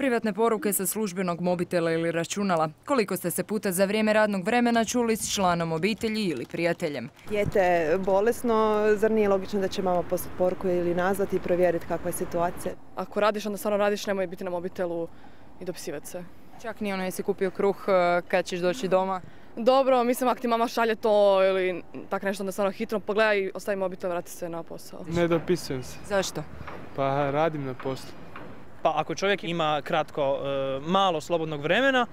Privatne poruke sa službenog mobitela ili računala. Koliko ste se puta za vrijeme radnog vremena čuli s članom obitelji ili prijateljem? Dijete je bolesno, zar nije logično da će mama poslati poruku ili nazvati i provjeriti kakva je situacija? Ako radiš, onda stvarno radiš, nemoj biti na mobitelu i dopisivati se. Čak ni ono jesi kupio kruh kad ćeš doći doma? Dobro, mislim ako ti mama šalje to ili tako nešto, onda stvarno hitro pogledaj i ostavi mobitel, vrati se na posao. Ne dopisujem se. Zašto? Pa radim na poslu. Pa ako čovjek ima kratko, malo slobodnog vremena,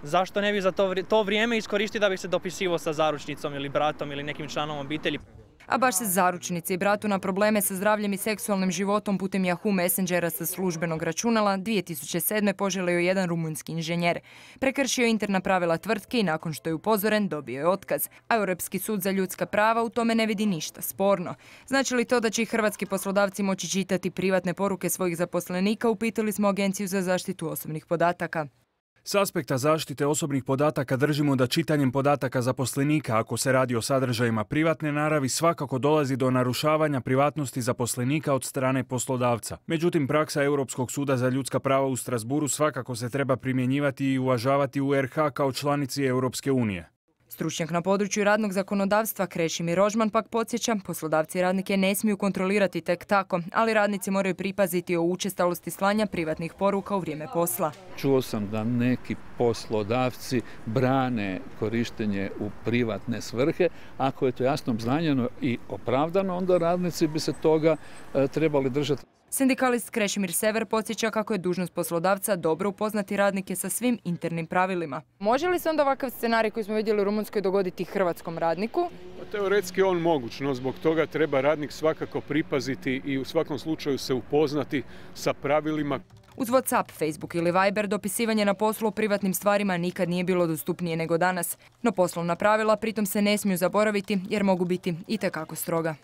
zašto ne bi za to vrijeme iskoristiti da bi se dopisivao sa zaručnicom ili bratom ili nekim članom obitelji? A baš se zaručnici i bratu na probleme sa zdravljem i seksualnim životom putem Yahoo Messengera sa službenog računala 2007. poželio jedan rumunjski inženjer. Prekršio interna pravila tvrtke i nakon što je upozoren dobio je otkaz. A Europski sud za ljudska prava u tome ne vidi ništa sporno. Znači li to da će i hrvatski poslodavci moći čitati privatne poruke svojih zaposlenika, upitali smo Agenciju za zaštitu osobnih podataka. S aspekta zaštite osobnih podataka držimo da čitanjem podataka zaposlenika, ako se radi o sadržajima privatne naravi, svakako dolazi do narušavanja privatnosti zaposlenika od strane poslodavca. Međutim, praksa Europskog suda za ljudska prava u Strasburu svakako se treba primjenjivati i uvažavati u RH kao članici Europske unije. Stručnjak na području radnog zakonodavstva Krešimir Rožman pak podsjeća, poslodavci radnike ne smiju kontrolirati tek tako, ali radnici moraju pripaziti o učestalosti slanja privatnih poruka u vrijeme posla. Čuo sam da neki poslodavci brane korištenje u privatne svrhe. Ako je to jasno obznanjeno i opravdano, onda radnici bi se toga trebali držati. Sindikalist Krešimir Sever podsjeća kako je dužnost poslodavca dobro upoznati radnike sa svim internim pravilima. Može li se onda ovakav scenarij koji smo vidjeli u Rumunjskoj dogoditi hrvatskom radniku? Teoretski on moguć, no zbog toga treba radnik svakako pripaziti i u svakom slučaju se upoznati sa pravilima. Uz WhatsApp, Facebook ili Viber dopisivanje na poslu o privatnim stvarima nikad nije bilo dostupnije nego danas. No poslovna pravila pritom se ne smiju zaboraviti jer mogu biti itekako stroga.